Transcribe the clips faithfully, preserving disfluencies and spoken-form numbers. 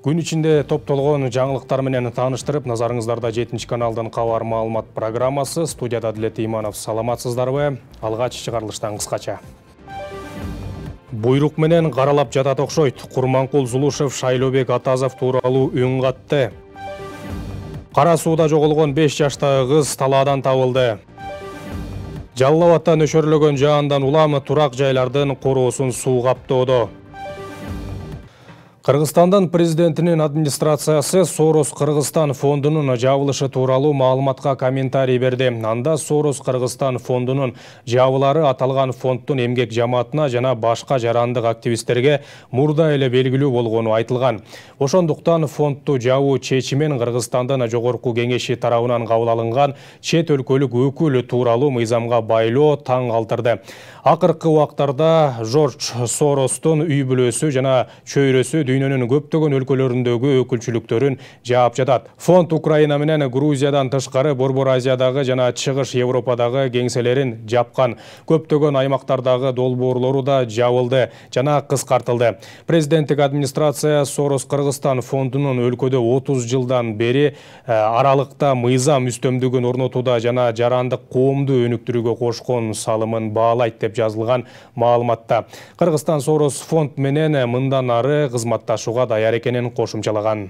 Күн ичинде топтолгон жаңылыктар менен тааныштырып, назарыңыздарда жетинчи каналдын кабар маалымат программасы. Студияда Адилет Иманов. Саламатсыздарбы? Алгач чыгарылыштан кыскача. Буйрук менен каралап жатат окшойт. Курманкул Зулушев Шайлообек Атазов тууралуу үн катты. Кара сууда жоголгон беш жаштагы кыз талаадан табылды. Жалал Абадта нөшөрлөгөн жаандан улам турак жайлардын короосун суу каптоодо. Кыргызстандын президентинин администрациясы Сорос Кыргызстан фондунун жабылышы тууралуу маалыматка комментарий берди. Анда Сорос Кыргызстан фондунун жабылары аталган фонддун эмгек жамаатына жана башка жарандык активисттерге мурда эле белгилүү болгону айтылган. Ошондуктан фондду жабуу чечимен Кыргызстандын жогорку кеңеши тарабынан кабыл алынган чет өлкөлүк өкүл тууралуу мыйзамга байлоо таң калтырды. Акыркы убактарда Жорж Соростун үй бүлөсү жана чөйрөсү дүйнөнүн көптөгөн өлкөлөрүндөгү өкүлчүлүктөрүн жаап жатат. Фонд Украина менен Грузиядан тышкары Борбор Азиядагы жана Чыгыш Европадагы кеңселерин жапкан. Көптөгөн аймактардагы долбоорлору да жабылды жана кыскартылды. Президенттик администрация Сорос Кыргызстан фондунун өлкөдө отуз жылдан бери аралыкта мыйзам үстөмдүгүн орнотууда жана жарандык коомду өнүктүрүүгө кошкон салымын баалайт деп жазылган маалыматта. Кыргызстан Сорос фонд менен мындан ары кызматташууга даяр экенин кошумчалаган.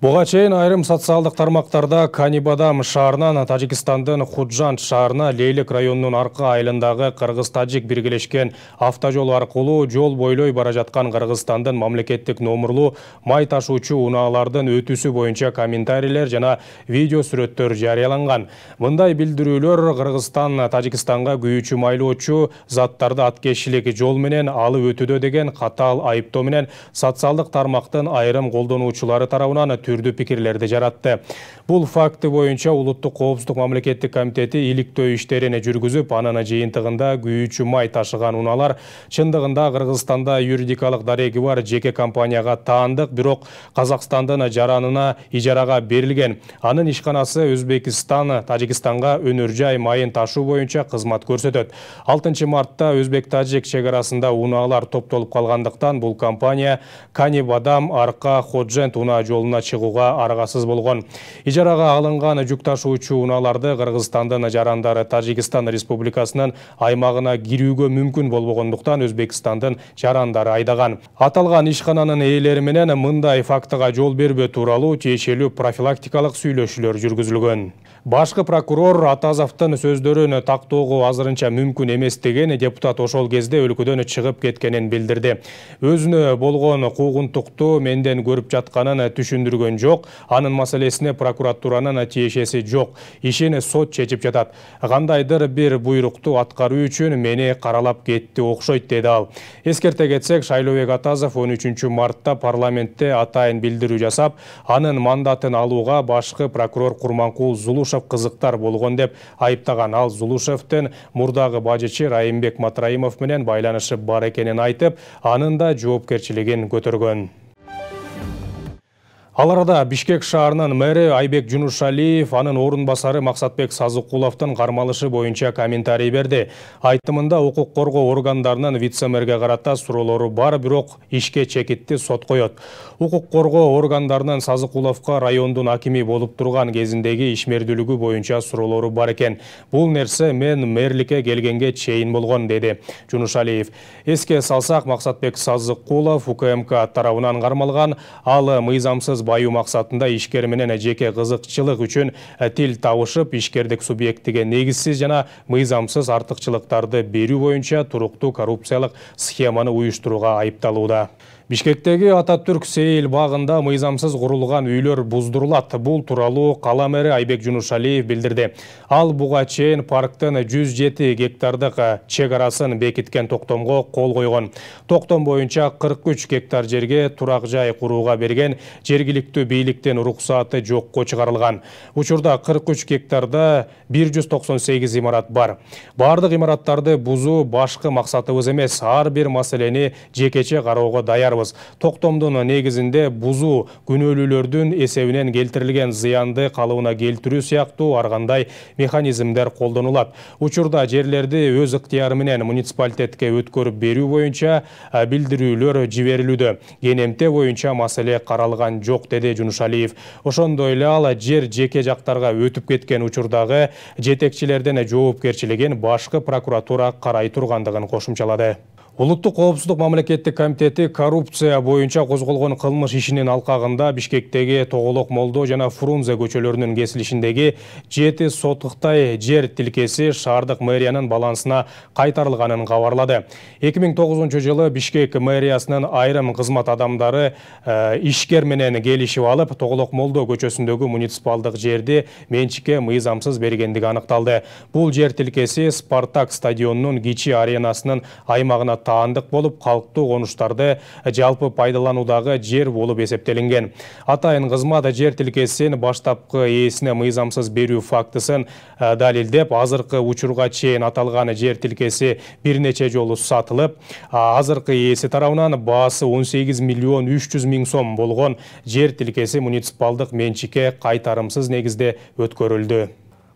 Буга чейин айрым социалдык тармактарда Канибадам шаарынан Тажикстандын Худжанд шаарына Лейлик районунун аркы айылындагы кыргыз-тажик биргелешкен автожол аркылуу жол бойлой бара жаткан Кыргызстандын мамлекеттик номурлуу май ташуучу унаалардын өтүүсү боюнча комментарийлер жана видео сүрөттөр жарыяланган. Мындай билдирүүлөр Кыргызстан Тажикстанга күйүүчү майлоочу заттарды аткезишилик жол менен алып өтүүдө деген катаал айыптоо менен социалдык тармактын айрым колдонуучулары тарабынан түрдүү пикирлерди жаратты. Бул факты боюнча Улуттук коопсуздук мамлекеттик комитети иликтөө иштерин жүргүзүп, анын жыйынтыгында күйүүчү май ташыган унаалар чындыгында Кыргызстанда юридикалык дареги бар жеке компанияга таандык, бирок Казакстандын жаранына ижарага берилген. Анын ишканасы Өзбекстан Тажикстанга өнөр жай майын ташуу боюнча кызмат көрсөтөт. алтынчы мартта Өзбек-Тажик чек арасында унаалар топтолуп калгандыктан бул компания Канибадам арка Ходжент унаа жолуна чыгууга аргасыз болгон. Ижарага алынган жүк ташуучу унааларды Кыргызстандын жарандары Тажикстан Республикасынын аймагына кирүүгө мүмкүн болбогондуктан Өзбекстандын жарандары айдаган. Аталган ишкананын ээлери менен мындай фактыга жол бербөө тууралуу тиешелүү профилактикалык сүйлөшүүлөр жүргүзүлгөн. Башкы прокурор Атазовдун сөздөрүн тактоого азырынча мүмкүн эмес деген депутат ошол кезде өлкөдөн чыгып кеткенин билдирди. Өзүнө болгон куугунтукту менден көрүп жатканын түшүндүргөн жок, анын маселесине прокуратуранын тиешеси жок. Ишин сот чечип жатат. Кандайдыр бир буйрукту аткаруу үчүн мени каралап кетти окшойт, деди ал. Эскерте кетсек, Шайлообек Атазов он үчүнчү мартта парламентте атайын билдирүү жасап, анын мандатын алууга башкы прокурор Курманкул Зулушев кызыктар болгон деп айыптаган. Ал Зулушевдин мурдагы бажычы Райымбек Матраимов менен байланышы бар экенин айтып, анын да жоопкерчилигин көтөргөн. Ал арада Бишкек шаарынын мэри Айбек Жунушалиев анын орун басары Максатбек Сазыкуловдун кармалышы боюнча комментарий берди. Айтымында укук коргоо органдарынын вице-мэрге карата суроолору бар, бирок ишке чекитти сот коет. Укук коргоо органдарынын Сазыкуловго райондун акими болуп турган кезиндеги ишмердүүлүгү боюнча суроолору бар экен. Бул нерсе мен мэрликке келгенге чейин болгон, деди Жунушалиев. Эске салсак, Максатбек Сазыкулов УКМК тарабынан кармалган. Ал мыйзамсыз баю максатында ишкер менен жеке кызыкчылык үчүн тил табышып, ишкердик субъектиге негизсиз жана мыйзамсыз артыкчылыктарды берүү боюнча туруктуу коррупциялык схеманы уюштурууга айыпталууда. Бишкектеги Ататүрк Сейил багында мыйзамсыз курулган үйлөр буздурулат. Бул тууралуу кала мэри Айбек Жунушалиев билдирди. Ал буга чейин парктын жүз жети гектардык чек арасын бекиткен токтомго кол койгон. Токтом боюнча кырк үч гектар жерге турак жай курууга берген жергиликтүү бийликтин уруксаты жокко чыгарылган. Учурда кырк үч гектарда бир жүз токсон сегиз имарат бар. Бардык имараттарды бузуу башкы максатыбыз эмес. Ар бир маселени жекече кароого даярбыз. жатабыз. Токтомдун негизинде бузуу күнөөлүүлөрдүн эсебинен келтирилген зыянды калыбына келтирүү сыяктуу ар кандай механизмдер колдонулат. Учурда жерлерди өз ыктыяры менен муниципалитетке өткөрүп берүү боюнча билдирүүлөр жиберилүүдө. Кенемте боюнча маселе каралган жок, деди Жунушалиев. Ошондой эле ал жер жеке жактарга өтүп кеткен учурдагы жетекчилерден жоопкерчилигин башкы прокуратура карай тургандыгын кошумчалады. Улуттук коопсуздук мамлекеттик комитети коррупция боюнча козголгон кылмыш ишинин алкагында Бишкектеги Тоголок Молдо жана Фрунзе көчөлөрүнүн кесилишиндеги жети сотуктай жер тилкеси шаардык мэриянын балансына кайтарылганын кабарлады. эки миң тогузунчу жылы Бишкек мэриясынын айрым кызмат адамдары э, ишкер менен келишип алып, Тоголок Молдо көчөсүндөгү муниципалдык жерди менчикке мыйзамсыз бергендиги аныкталды. Бул жер тилкеси Спартак стадионунун кичи аренасынын аймагына таандык болуп, калктуу конуштарды жалпы пайдалануудагы жер болуп эсептелинген. Атайын кызмат жер тилкесин баштапкы ээсине мыйзамсыз берүү фактысын далилдеп, азыркы учурга чейин аталган жер тилкеси бир нече жолу сатылып, азыркы ээси тарабынан баасы он сегиз миллион үч жүз миң сом болгон жер тилкеси муниципалдык менчикке кайтарымсыз негизде өткөрүлдү.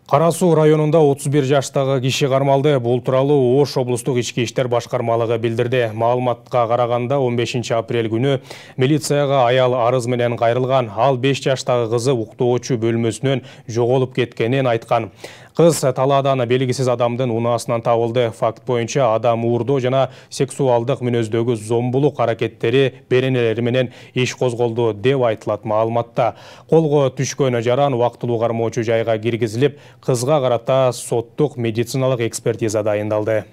Кара Суу районунда отуз бир жаштагы киши кармалды. Бул тууралуу Ош облустук ички иштер башкармалыгы билдирди. Маалыматка караганда он бешинчи апрель күнү милицияга аял арыз менен кайрылган. Ал беш жаштагы кызы уктоочу бөлмөсүнөн жоголуп кеткенин айткан. Кыз талаадан белгисиз адамдын унаасынан табылды. Факт боюнча адам уурдоо жана сексуалдык мүнөздөгү зомбулук аракеттери беренелери менен иш козголду деп айтылат маалыматта. Колго түшкөн жаран убактылуу кармоочу жайга киргизилип, кызга карата соттук медициналык экспертиза дайындалды.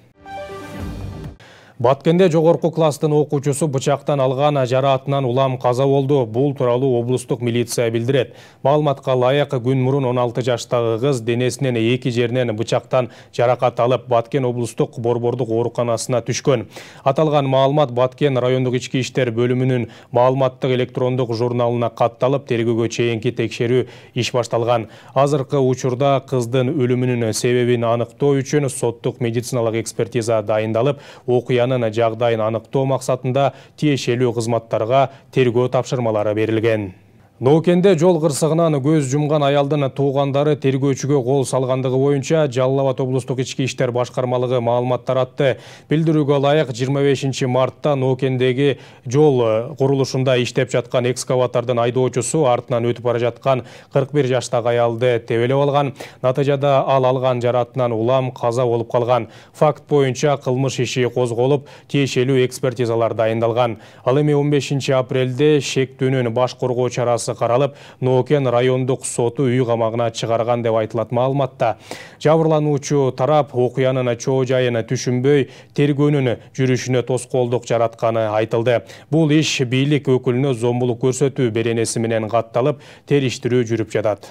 Баткенде жогорку класстын окуучусу бычактан алган жараатынан улам каза болду. Бул тууралуу облустук милиция билдирет. Маалыматка ылайык, күн мурун он алты жаштагы кыз денесинин эки жеринен бычактан жаракат алып, Баткен облустук борбордук ооруканасына түшкөн. Аталган маалымат Баткен райондук ички иштер бөлүмүнүн маалыматтык электрондук журналына катталып, тергөөгө чейинки текшерүү иш башталган. Азыркы учурда кыздын өлүмүнүн себебин аныктоо үчүн соттук медициналык экспертиза дайындалып, окуянын жагдайын аныктоо максатында тиешелүү кызматтарга тергөө тапшырмалары берилген. Ноокенде жол кырсыгынан көз жумган аялдын туугандары тергөөчүгө кол салгандыгы боюнча Жалал Абад облустук ички иштер башкармалыгы маалымат таратты. Билдирүүгө ылайык, жыйырма бешинчи мартта Ноокендеги жол курулушунда иштеп жаткан экскаватордун айдоочусу артынан өтүп бара жаткан кырк бир жаштагы аялды тебелеп алган. Натыйжада ал алган жараатынан улам каза болуп калган. Факт боюнча кылмыш иши козголуп, тиешелүү экспертизалар дайындалган. Ал эми он бешинчи апрелде шектүүнүн баш коргоо чарасы каралып, Ноокен райондук соту үй камагына чыгарган деп айтылат маалыматта. Жабырлануучу тарап окуянын чоо жайын түшүнбөй, тергөөнүн жүрүшүнө тоскоолдук жаратканы айтылды. Бул иш бийлик өкүлүнө зомбулук көрсөтүү беренеси менен катталып, териштирүү жүрүп жатат.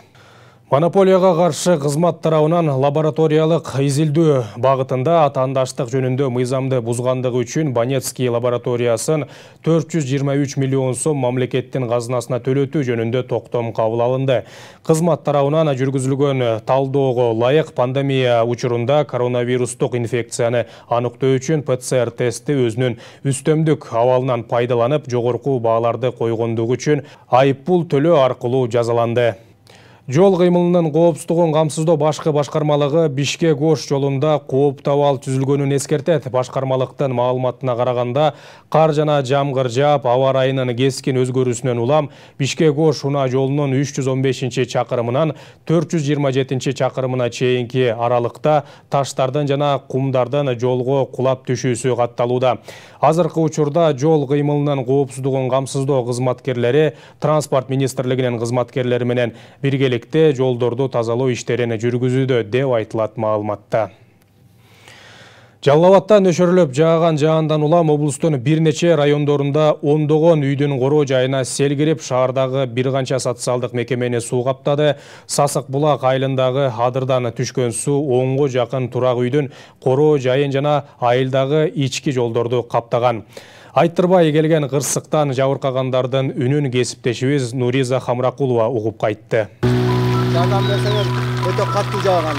Монополияга каршы кызмат тарабынан лабораториялык изилдөө багытында атаандаштык жөнүндө мыйзамды бузгандыгы үчүн Банецкий лабораториясын төрт жүз жыйырма үч миллион сом мамлекеттин казынасына төлөтүү жөнүндө токтом кабыл алынды. Кызмат тарабынан жүргүзүлгөн талдоого ылайык, пандемия учурунда коронавирустук инфекцияны аныктоо үчүн П Ц Р тести өзүнүн үстөмдүк абалынан пайдаланып, жогорку бааларды койгондугу үчүн айыппул төлөө аркылуу жазаланды. Жол кыймылынын коопсуздугун камсыздоо башкы башкармалыгы Бишкек-Ош жолунда кооптуу абал түзүлгөнүн эскертет. Башкармалыктын маалыматына караганда, кар жана жамгыр жаап, аба ырайынын кескин өзгөрүүсүнөн улам Бишкек-Ош унаа жолунун үч жүз он бешинчи чакырымынан төрт жүз жыйырма жетинчи чакырымына чейинки аралыкта таштардын жана кумдардын жолго кулап түшүүсү катталууда. Азыркы учурда жол кыймылынын коопсуздугун камсыздоо кызматкерлери Транспорт министрлигинин кызматкерлери менен бирге жолдорду тазалоо иштерин жүргүзүүдө деп айтылат маалыматта. Жалал Абадта нөшөрлөп жааган жаандан улам облустун бир нече райондорунда ондогон үйдүн короо жайына сел кирип, шаардагы бир канча социалдык мекемени суу каптады. Сасык булак айылындагы адырдан түшкөн суу онго жакын турак үйдүн короо жайын жана айылдагы ички жолдорду каптаган. Айттырбай келген кырсыктан жабыркагандардын үнүн кесиптешибиз Нуриза Хамракулова угуп кайтты. Жардам берсеңер, өтө катуу жааган.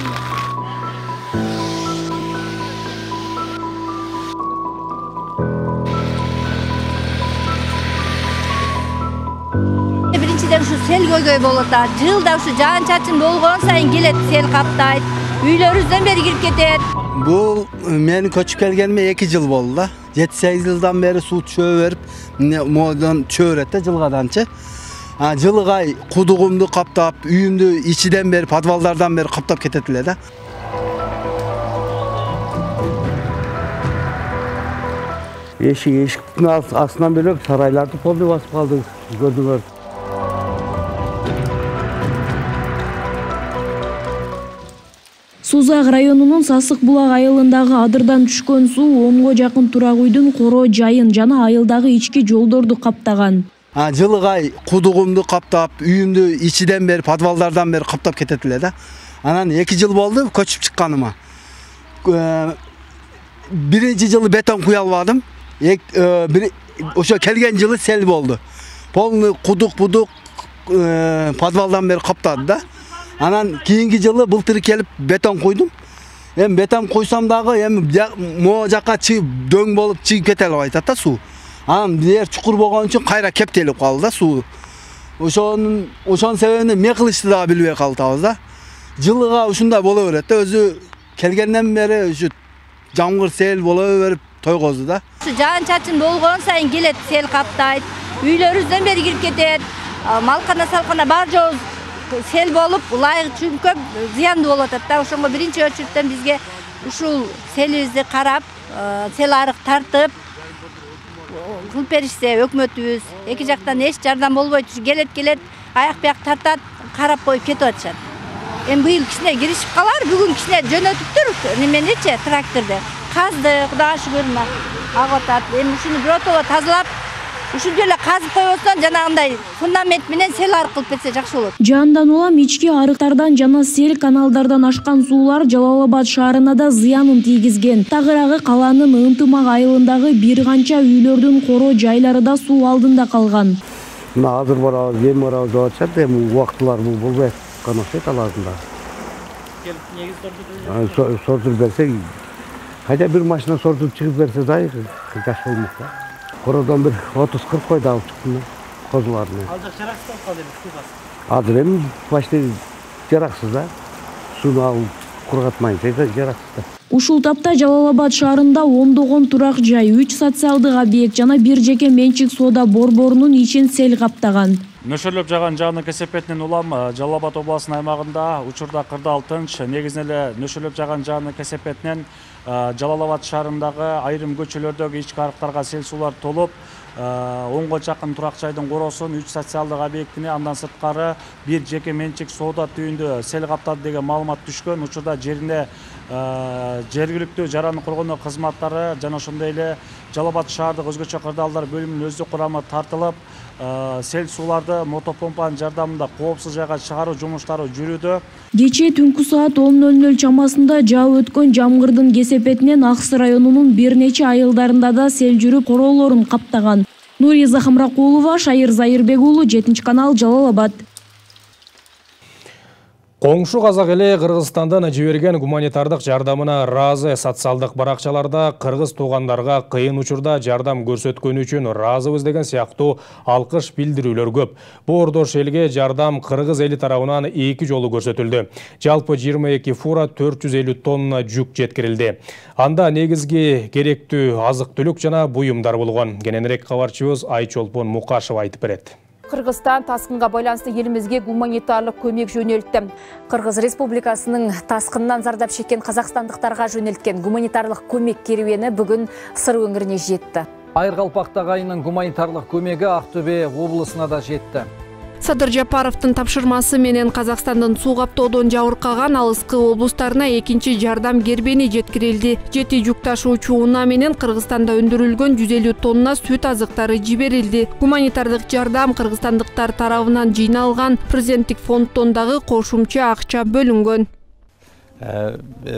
сел көйгөй болот. Жылда ушу жаан-чачын болгон сайын келет, сел каптайт. Үйлөрүбүздөн бери кирип кетет. Бул менин көчүп келгениме эки жыл болду да. жети сегиз жылдан бери суу чөө берип, модон чөө берет да жылгаданчы. А жылгай кудугумду каптап, үйүмдү ичиден бери, подвалдардан бери каптап кетет эле да. Эшик эшиктин астынан бөлөк сарайларды полный басып калды, көрдүңөр. Сузак районунун Сасык булак айылындагы адырдан түшкөн суу онго жакын турак үйдүн коро жайын жана айылдагы ички жолдорду каптаган. А жылгай кудугумду каптап, үйүмдү ичиден бери, подвалдардан бери каптап кетет эле да. Анан эки жыл болду көчүп чыкканыма. Биринчи жылы бетон куя албадым. Ошо келген жылы сел болду. Полный кудук-будук подвалдан бери каптады да. Анан кийинки жылы былтыр келип бетон куйдум. Эми бетон куйсам дагы эми могу жака чыгып дөң болуп чыгып кете албай атат да суу. Анан жер чукур болгон үчүн кайра кептелип калды да суу. Ошонун ошонун себебин эмне кылышты дагы билбей калдыбыз да. Жылга ушундай боло берет да, өзү келгенден бери ушу жамгыр сел боло берип тойгозду да. Жаан-чачын болгон сайын келет, сел каптайт. Үйлөрүбүздөн бери кирип кетет. Малкана салкана бар жообуз сел болуп, улай чүнкөп зыяндуу болуп атат да. Ошонго биринчи очереден бизге ушул селибизди карап, сел арык тартып кылып беришсе өкмөтүбүз, эки жактан эч жардам болбойт, келет келет, аяк бияк тартат, карап коюп кетип атышат. Эми быйыл кичине киришип калар, бүгүн кичине жөнөтүптүр, неменичи, тракторду. Казды, Кудайга шүгүр, агып атат. Эми ушуну биротоло тазалап, ушунча эле казып койбостон жанагындай фундамент менен сел арык кылып берсе жакшы болот. Жандан улам ички арыктардан жана сел каналдардан ашкан суулар Жалал Абад шаарына да зыянын тийгизген. Тагыраагы калаанын Ынтымак айылындагы бир канча үйлөрдүн коро жайлары да суу алдында калган. Мына азыр барабыз, эми барабыз деп атышат, эми убактылар бул болбой аткан окшойт алардында. Келип негиз сортуп сортуп берсек, кайда бир машина сортуп чыгып берсе да жакшы болмок да. Кородон бир отуз кырк койду алып чыктым козуларны. Ал жак жараксыз калды эми суу басып. Азыр эми почти жараксыз да. Сууну алып кургатмайынча жараксыз да. Ушул тапта Жалал Абад шаарында ондогон турак жай, үч социалдык объект жана бир жеке менчик соода борборунун ичин сел каптаган. Нөшөрлөп жаган жаанын кесепетинен улам Жалал Абад областынын аймагында учурда кырдаал тынч. Негизинен эле нөшөрлөп жаган жаанын кесепетинен Жалал Абад шаарындагы айрым көчөлөрдөгү ички арыктарга сел суулар толуп, онго жакын турак жайдын коросун, үч социалдык объектине, андан сырткары бир жеке менчик соода түйүндө сел каптады деген маалымат түшкөн. Учурда жерине жергиликтүү жараны коргонуу кызматтары жана ошондой эле Жалал Абад шаардык өзгөчө кырдаалдар бөлүмүнүн өздүк курамы тартылып, сел сууларды мотопомпанын жардамында коопсуз жайга чыгаруу жумуштары жүрүүдө. Кечээ түнкү саат он ноль ноль чамасында жаап өткөн жамгырдын кесепетинен Аксы районунун бир нече айылдарында да сел жүрүп королорун каптаган. Нурия Захамракулова, Шайыр Зайырбек уулу, жетинчи канал, Жалал Абад. Коңшу казак эли Кыргызстандан жиберген гуманитардык жардамына ыраазы. Социалдык баракчаларда кыргыз туугандарга кыйын учурда жардам көрсөткөнү үчүн ыраазыбыз деген сыяктуу алкыш билдирүүлөр көп. Боордош элге жардам кыргыз эли тарабынан эки жолу көрсөтүлдү. Жалпы жыйырма эки фура төрт жүз элүү тонна жүк жеткирилди. Анда негизги керектүү азык-түлүк жана буюмдар болгон. Кененирээк кабарчыбыз Айчолпон Мукашева айтып берет. Кыргызстан таскынга байланыштуу элибизге гуманитарлык көмөк жөнөлттү. Кыргыз Республикасынын таскындан зардап чеккен казакстандыктарга жөнелткен гуманитарлык көмөк керуени бүгүн Сыр өңүрүнө жетти. Айыргалпактагы айынын гуманитарлык көмөгү Актөбе облусуна да жетти. Садыр Жапаровдун тапшырмасы менен Казакстандын суу каптоодон жабыркаган алыскы облустарына экинчи жардам кербени жеткирилди. Жети жүк ташуучу унаа менен Кыргызстанда өндүрүлгөн жүз элүү тонна сүт азыктары жиберилди. Гуманитардык жардам кыргызстандыктар тарабынан жыйналган президенттик фонддон дагы кошумча акча бөлүнгөн.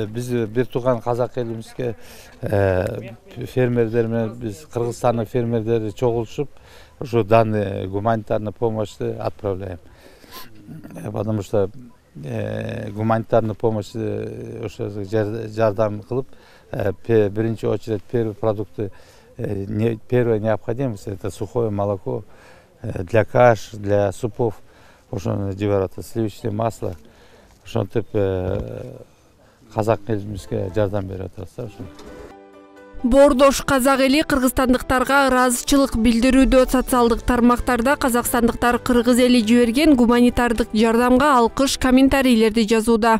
Биз бир тууган казак элибизге фермерлер менен биз Кыргызстандын фермерлери чогулушуп ушу данный гуманитарную помощь отправляем. Потому что гуманитарную помощь ошо жардам кылып, биринчи очередь первые продукты, первая необходимость это сухое молоко для каш, для супов. ошону жиберип атат, сливочное масло. Ошентип казак элибизге жардам берип атабыз да ошо. Боордош казак эли кыргызстандыктарга ыраазычылык билдирүүдө социалдык тармактарда казакстандыктар кыргыз эли жиберген гуманитардык жардамга алкыш комментарийлерди жазууда.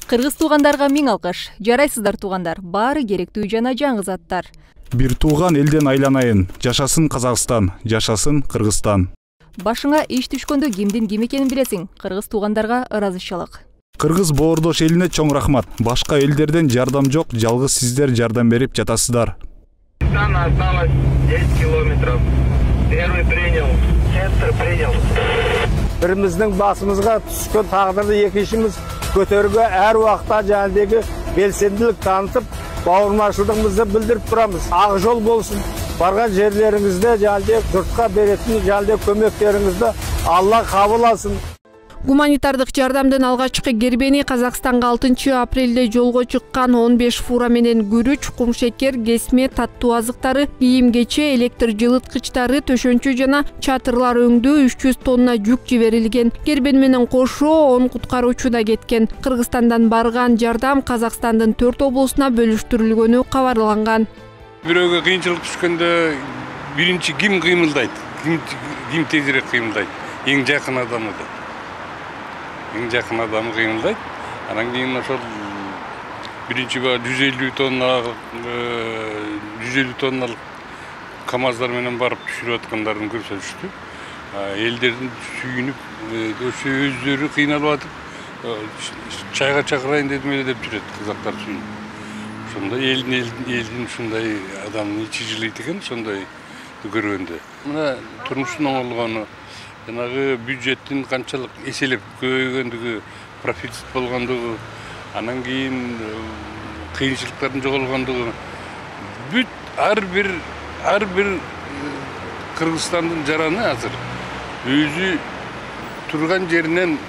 Кыргыз туугандарга миң алкыш. Жарайсыздар туугандар, баары керектүү жана жаңы заттар. Бир тууган элден айланайын. Жашасын Казакстан, жашасын Кыргызстан. Башыңа иш түшкөндө кимдин ким экенин билесиң. Кыргыз туугандарга ыраазычылык. Кыргыз боордош элине чоң рахмат. Башка элдерден жардам жок, жалгыз сиздер жардам берип жатасыздар. Осталось десять километров. Первый принял, центр принял. Биримиздин басымызга түшкөн тагдырды экинчimiz көтөрүүгө ар убакта жандагы белсендилик танытып, бауырмашылыгыбызды билдирип турабыз. Ак жол болсун. Барган жерлериңизде жандагы журтка беретин жандагы көмөктөрүңүздү Алла кабыл алсын. Гуманитардык жардамдын алгачкы кербени Казакстанга алтынчы апрелде жолго чыккан он беш фура менен күрүч, кумшекер, кесме, таттуу азыктары, кийим-кече, электр жылыткычтары, төшөнчү жана чатырлар өңдүү үч жүз тонна жүк жиберилген. Кербен менен кошо он куткаруучу да кеткен. Кыргызстандан барган жардам Казакстандын төрт облусуна бөлүштүрүлгөнү кабарланган. Бирөөгө кыйынчылык түшкөндө биринчи ким кыймылдайт? Ким ким тезирээк кыймылдайт? Эң жакын адамы да. Эң жакын адамы кыймылдайт. Анан кийин ошол биринчи жүз элүү тонна жүз элүү тонналык КАМАЗдар менен барып түшүрүп аткандарын көрсөтүштү. Элдердин сүйүнүп, ошо өздөрү кыйналып атып, чайга чакырайын дедим эле деп жүрөт казактар сүйүнүп. Ошондой элдин элдин ушундай адамдын ичи жылыйт экен, ошондой көргөндө. Мына турмуштун оңолгону, жанагы бюджеттин канчалык эселеп көбөйгөндүгү, профицит болгондугу, анан кийин кыйынчылыктардын жоголгондугу, бүт ар бир ар бир Кыргызстандын жараны азыр өзү турган жеринен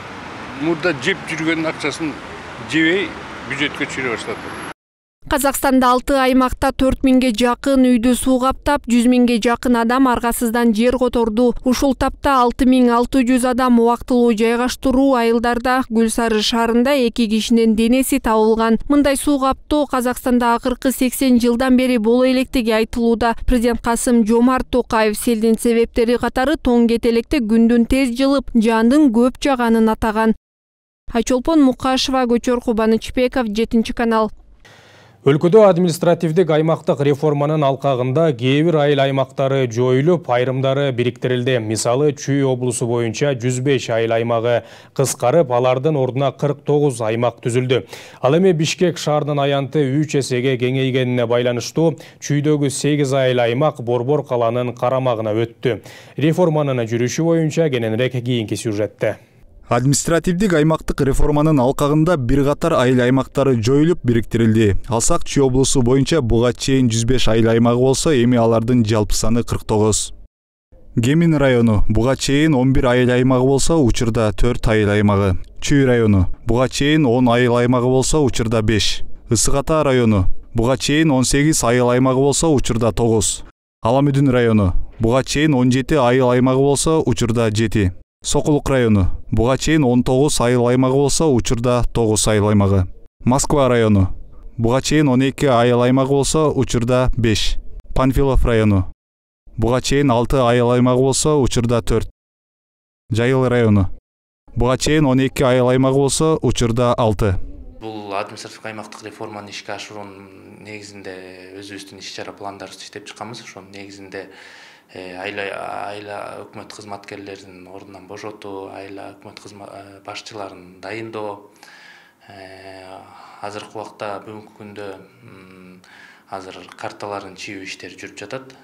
мурда жеп жүргөн акчасын жебей бюджетке чыгыра баштады. Казакстанда алты аймакта төрт миңге жакын үйдү суу каптап, жүз миңге жакын адам аргасыздан жер которду. Ушул тапта алты миң алты жүз адам убактылуу жайгаштыруу айылдарда. Гүл Сары шаарында эки кишинин денеси табылган. Мындай суу каптоо Казакстанда акыркы сексен жылдан бери боло электиги айтылууда. Президент Касым Жомарт Токаев селдин себептери катары тоң кетелекте күндүн тез жылып, жандын көп жаганын атаган. Айчолпон Мукашева, Көчөр Кубанычбеков, жетинчи канал. Өлкөдө административдик аймактык реформанын алкагында кээ бир айыл аймактары жоюлуп, айрымдары бириктирилди. Мисалы, Чүй облусу боюнча жүз беш айыл аймагы кыскарып, алардын ордуна кырк тогуз аймак түзүлдү. Ал эми Бишкек шаарынын аянты үч эсеге кеңейгенине байланыштуу Чүйдөгү сегиз айыл аймак Борбор каланын карамагына өттү. Реформанын жүрүшү боюнча кененирээк кийинки сюжетте. Административдик аймактык реформанын алкагында бир катар айыл аймактары жоюлуп бириктирилди. Алсак, Чүй облусу боюнча буга чейин жүз беш айыл аймагы болсо, эми алардын жалпы саны кырк тогуз. Кемин району буга чейин он бир айыл аймагы болсо, учурда төрт айыл аймагы. Чүй району буга чейин он айыл аймагы болсо, учурда беш. Ысык Ата району буга чейин он сегиз айыл аймагы болсо, учурда тогуз. Ала Мүдүн району буга чейин он жети айыл аймагы болсо, учурда жети. Сокулук району буга чейин он тогуз айыл аймагы болсо, учурда тогуз айыл аймагы. Москва району буга чейин он эки айыл аймагы болсо, учурда беш. Панфилов району буга чейин алты айыл аймагы болсо, учурда төрт. Жайыл району буга чейин он эки айыл аймагы болсо, учурда алты. Бул административдик аймактык реформаны ишке ашыруунун негизинде өзүбүздүн иш-чара пландарыбызды иштеп чыкканбыз. Ошонун негизинде айла айла өкмөт кызматкерлерин ордунан бошотуу, айла өкмөт башчыларын дайындоо. Азыркы убакта бүгүнкү күндө азыр карталарын чийүү иштери жүрүп жатат.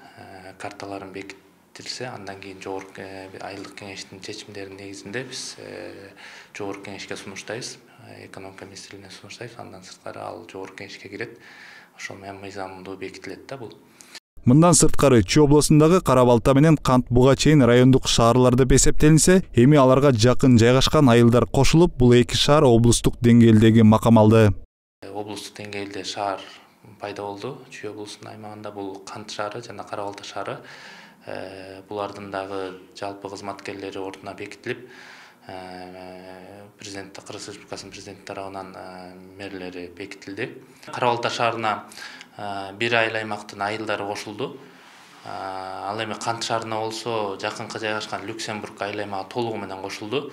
Карталарын бекитилсе, андан кийин жогорку айылдык кеңештин чечимдеринин негизинде биз жогорку кеңешке сунуштайбыз, экономика министрлигине сунуштайбыз. Андан сырткары ал жогорку кеңешке кирет. Ошол менен мыйзамдуу бекитилет да бул. Мындан сырткары Чүй облусундагы Кара Балта менен Кант буга чейин райондук шаарлар деп эсептелинсе, эми аларга жакын жайгашкан айылдар кошулуп, бул эки шаар облустук деңгээлдеги макам алды. Облустук деңгээлде шаар пайда болду. Чүй облусунун аймагында бул Кант шаары жана Кара Балта шаары. Булардын дагы жалпы кызматкерлери ордуна бекитилип, президент Кыргыз Республикасынын президенти тарабынан мэрлери бекитилди. Кара Балта шаарына бир айыл аймактын айылдары кошулду. Ал эми Кант шаарына болсо жакынкы жайгашкан Люксембург айыл аймагы толугу менен кошулду.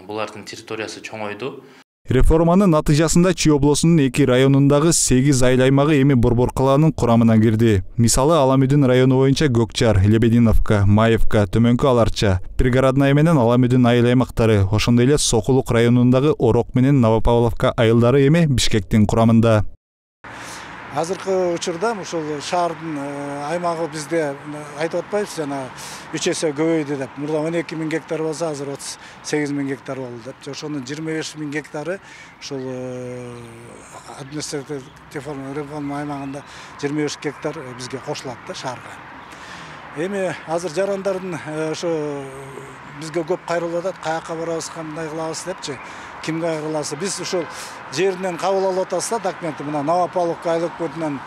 Булардын территориясы чоңойду. Реформанын натыйжасында Чүй облусунун эки районундагы сегиз айыл аймагы эми Борбор калаанын курамына кирди. Мисалы Аламүдүн району боюнча Көкчар, Лебединовка, Маевка, Төмөнкү Аларча, Пригородная менен Аламүдүн айыл аймактары, ошондой эле Сокулук районундагы Орок менен Новопавловка айылдары эми Бишкектин курамында. Азыркы учурда ушул шаардын аймагы бизде айтып атпайбыз, жана үч эсе көбөйдү деп. Мурда он эки миң гектар болсо, азыр отуз сегиз миң гектар болду деп. Ошонун жыйырма беш миң гектары ушул административдик реформа аймагында жыйырма беш гектар бизге кошулат да шаарга. Эми азыр жарандардын ошо бизге көп кайрылып атат, каяка барабыз, кандай кылабыз депчи. Ким кайрыласы? Биз ушул жеринен кабыл алып атабыз да документти. Мына Новопавловка айыл өкмөтүнөн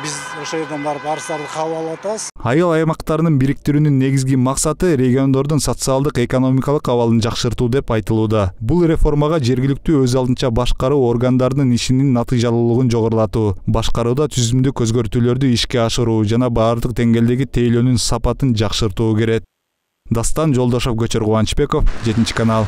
биз ошол жерден барып арыздарды кабыл алып атабыз. Айыл аймактарынын бириктирүүнүн негизги максаты региондордун социалдык экономикалык абалын жакшыртуу деп айтылууда. Бул реформага жергиликтүү өз алдынча башкаруу органдарынын ишинин натыйжалуулугун жогорулатуу, башкарууда түзүмдүк өзгөртүүлөрдү ишке ашыруу жана баардык деңгээлдеги тейлөөнүн сапатын жакшыртуу керек. Дастан Жолдошов, Көчөр Кубанычбеков, жетинчи канал.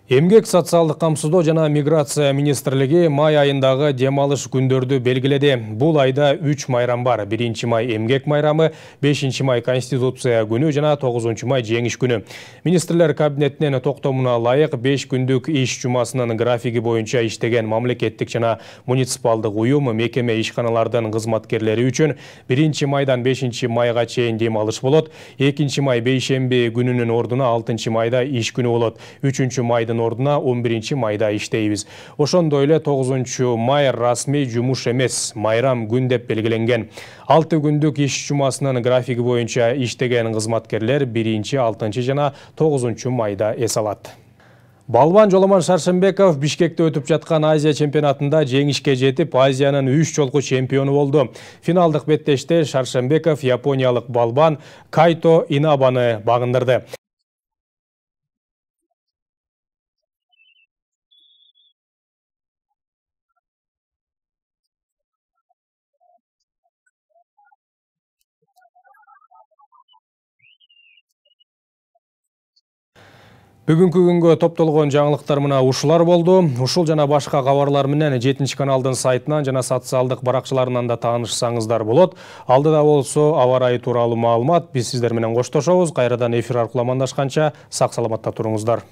Эмгек социалдык камсыздоо жана миграция министрлиги май айындагы дем алыш күндөрдү белгиледи. Бул айда үч майрам бар. биринчи май эмгек майрамы, бешинчи май Конституция күнү жана тогузунчу май жеңиш күнү. Министрлер кабинетинин токтомуна ылайык беш күндүк иш жумасынын графиги боюнча иштеген мамлекеттик жана муниципалдык уюм, мекеме ишканалардын кызматкерлери үчүн биринчи майдан бешинчи майга чейин дем алыш болот. экинчи май бейшемби күнүнүн ордуна алтынчы майда иш күнү болот. үчүнчү майдын ордуна он биринчи майда иштейбиз. Ошондой эле тогузунчу май расмий жумуш эмес, майрам күн деп белгиленген. алты күндүк иш жумасынын графиги боюнча иштеген кызматкерлер биринчи, алтынчы жана тогузунчу майда эс алат. Балбан Жоломон Шаршембеков Бишкекте өтүп жаткан Азия чемпионатында жеңишке жетип, Азиянын үч жолку чемпиону болду. Финалдык беттеште Шаршембеков япониялык балбан Кайто Инабаны багындырды. Бүгүнкү күнгө топтолгон жаңылыктар мына ушулар болду. Ушул жана башка кабарлар менен жетинчи каналдын сайтынан жана социалдык баракчаларынан да таанышсаңыздар болот. Алдыда болсо аба ырайы тууралуу маалымат. Биз сиздер менен коштошобуз. Кайрадан эфир аркылуу амандашканча сак саламатта туруңуздар.